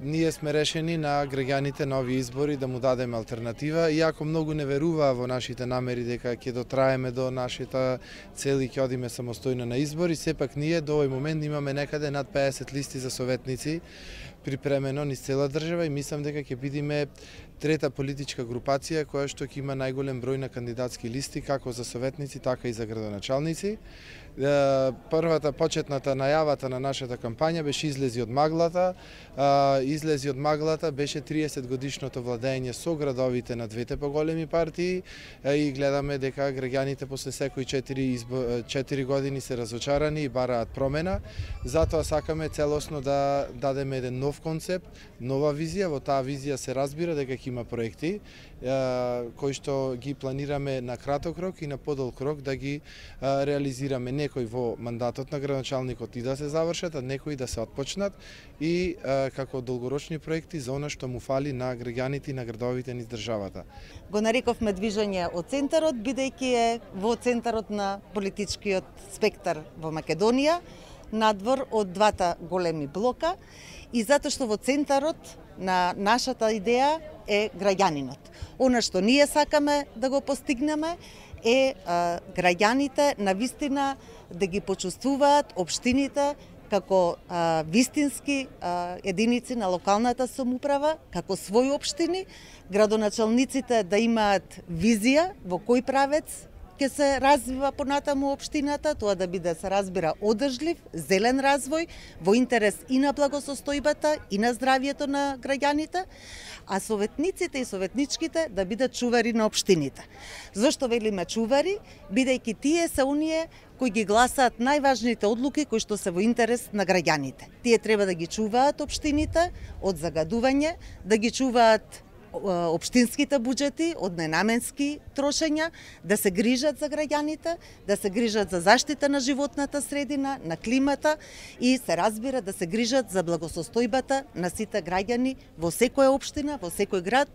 Ние сме решени на граѓаните на овие избори да му дадеме алтернатива, иако многу не веруваа во нашите намери дека ќе дотраеме до нашата цел и ќе одиме самостојно на избори, сепак ние до овој момент имаме некаде над 50 листи за советници припремено низ цела држава и мислам дека ќе бидеме трета политичка групација која што ќе има најголем број на кандидатски листи како за советници, така и за градоначалници. Првата почетната најавата на нашата кампања беше излези од маглата. Излези од маглата беше 30 годишното владење со градовите на двете поголеми партии и гледаме дека граѓаните после секои 4 години се разочарани и бараат промена. Затоа сакаме целосно да дадеме еден нов концепт, нова визија. Во таа визија се разбира дека има проекти кои што ги планираме на краток рок и на подолг рок да ги реализираме, некои во мандатот на градоначалникот и да се завршат, а некои да се отпочнат и како долгорочни проекти за она што му фали на граѓаните и на градовите низ државата. Го нарековме движење од центарот, бидејќи е во центарот на политичкиот спектар во Македонија, надвор од двата големи блока и затоа што во центарот на нашата идеја е граѓанинот. Она што ние сакаме да го постигнеме е граѓаните навистина да ги почувствуваат општините како вистински единици на локалната самоуправа, како своји општини, градоначалниците да имаат визија во кој правец ќе се развива понатаму општината, тоа да биде, се разбира, одржлив, зелен развој, во интерес и на благосостојбата, и на здравието на граѓаните, а советниците и советничките да бидат чувари на општините. Зошто велиме чувари? Бидејќи тие се оние кои ги гласаат најважните одлуки кои што се во интерес на граѓаните. Тие треба да ги чуваат општините од загадување, да ги чуваат општинските буџети од ненаменски трошења, да се грижат за граѓаните, да се грижат за заштита на животната средина, на климата и се разбира да се грижат за благосостојбата на сите граѓани во секоја општина, во секој град